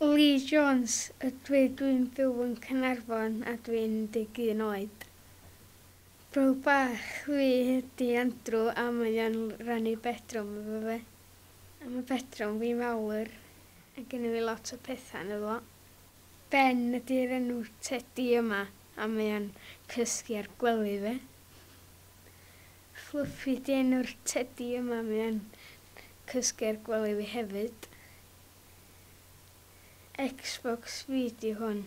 Lee Jones ydw i, dwi'n byw yn Caernarfon a dwi'n 11 oed. Brawd bach fi ydi Andrew a mae o'n rannu bedroom efo fi. A mae bedroom fi mawr a gynna fi lot o pethau ynddo fo. Ben ydi'r enw tedi yma a mae o'n cysgu ar gwely fi. Fluffy 'di enw'r tedi yma, mae o'n cysgu ar gwely fi hefyd. Xbox fi 'di hwn.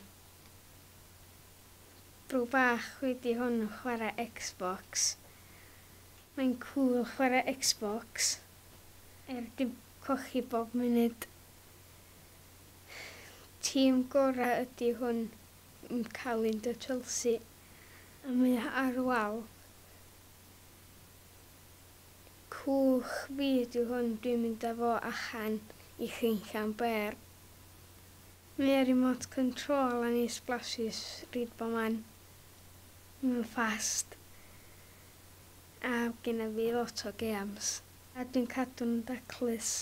Bro bach fi 'di hwn yn chwarae Xbox. Mae'n cŵl chwarae Xbox. Er dim cochi bob munud. Tîm gorau ydi hwn yn cael un dy Chelsea. A mae o ar wal. Cwch fi ydi hwn, dwi'n mynd â fo allan i chinllan bêr. Mae remote control a ni splashes ryd bo man. Mae'n fast. A genna fi lot o games. A dwi'n cadw'n daclus.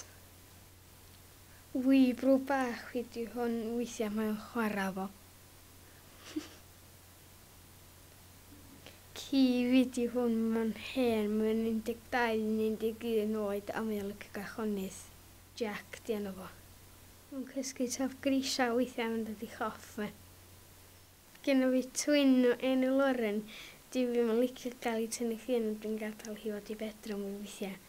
Wii bro bach fi 'di hwn, weithiau mae'n chwarae fo. Ci fi 'di hwn, mae'n hen, mae'n 12 neu 11 oed a mae'n licio gachonydd. Jack 'di enw fo. Mae'n cysgu top grisiau weithiau mae'n dod i choff fi. Genna fi twin o enw Lauren. Dwi ddim yn licio gael ei tynnu llun ond dwi'n gadael hi fod i bedroom fi weithiau.